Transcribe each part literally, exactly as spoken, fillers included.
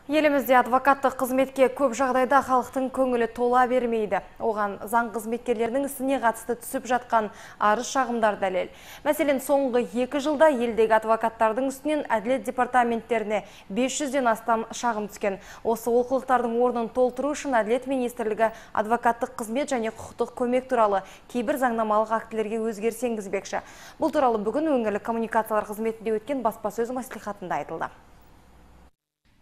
Елімізде адвокаттық қызметке көп жағдайда халықтың көңілі тола бермейді. Оған заң қызметкерлерінің ісіне қатысты түсіп жатқан арыз шағымдар дәлел. Мәселен, соңғы екі жылда елдегі адвокаттардың үстінен әділет департаменттеріне бес жүзден астам шағым түскен. Осы олқылықтардың орнын толтыру үшін Әділет министрлігі адвокаттық қызмет және құқықтық көмек туралы кейбір заңнамалық актілерге өзгеріс енгізбекші. Бұл туралы бүгін өңірлік коммуникациялар қызметінде өткен баспасөз мәслихатында айтылды.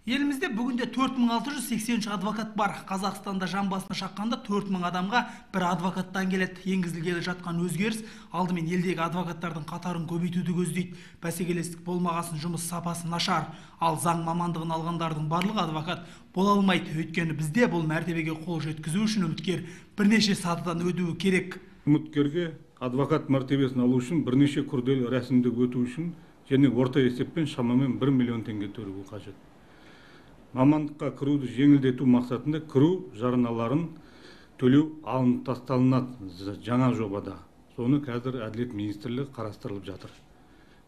Елімізде бүгінде төрт мың алты жүз сексен үш адвокат бар. Қазақстанда жан басына шаққанда төрт мың адамға бір адвокаттан келеді. Енгізілгелі жатқан өзгеріс алдымен елдегі адвокаттардың қатарын көбейтуді көздейді. Бәсекелестік болмағасын, жұмыс сапасы нашар. Ал заң мамандығын алғандардың барлығы адвокат бола алмайды. Өйткені бізде бұл мәртебеге қол жеткізу үшін үміткер бірнеше сатыдан өтуі керек. Үміткерге адвокат мәртебесін алу үшін бірнеше күрделі рәсімді өту үшін және орта есеппен шамамен бір миллион теңге төлеу қажет. Мамандыққа кіруді жеңілдету мақсатында кіру жарналарын төлеу алынып тасталынады жаңа жобада. Соны қазір Әділет министрлігі қарастырылып жатыр.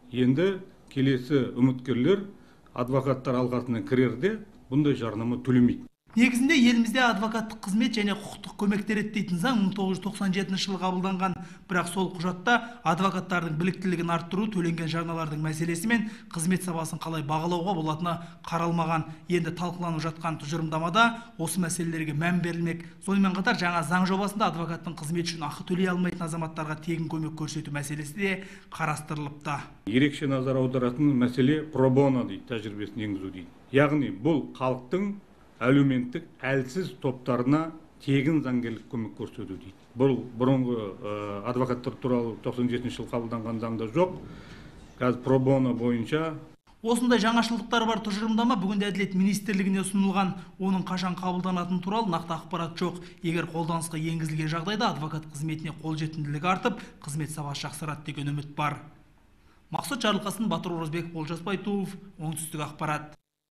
Енді келесі үміткерлер адвокаттар алқасына кірерде бұндай жарнама төлемейді. Негізінде елімізде адвокаттық қызмет және құқықтық көмек реттейтін заң мың тоғыз жүз тоқсан жетінші жылы қабылданған. Бірақ сол құжатта адвокаттардың біліктілігін арттыру, төленген жарналардың мәселесі мен қызмет сапасын қалай бағалауға болатыны қаралмаған. Енді талқыланып жатқан тұжырымдамада осы мәселелерге мән берілмек. Сонымен қатар жаңа заң жобасында адвокаттың қызмет үшін ақы төлей алмайтын азаматтарға тегін көмек көрсету мәселесі де қарастырылыпты. Ерекше назар аударатын мәселе пробоно дейді, тәжірибесін енгізу дейді. Яғни бұл халықтың әлеуметтік әлсіз топтарына тегін заңгерлік көмек көрсету дейді. Бұл бұрынғы адвокаттар туралы тоқсан жетінші жылы қабылданған заңда жоқ. Қазір пробоно бойынша осындай жаңашылдықтар бар тұжырымдама бүгінде Әділет министрлігіне ұсынылған. Оның қашан қабылданатыны туралы нақты ақпарат жоқ. Егер қолданысқа енгізілген жағдайда адвокат қызметіне қолжетімділігі артып, қызмет сапасы жақсарады деген үміт бар. Мақсұт Жарылқасын, Батыр Оразбеков, Олжас Байтуов, Оңтүстік ақпарат.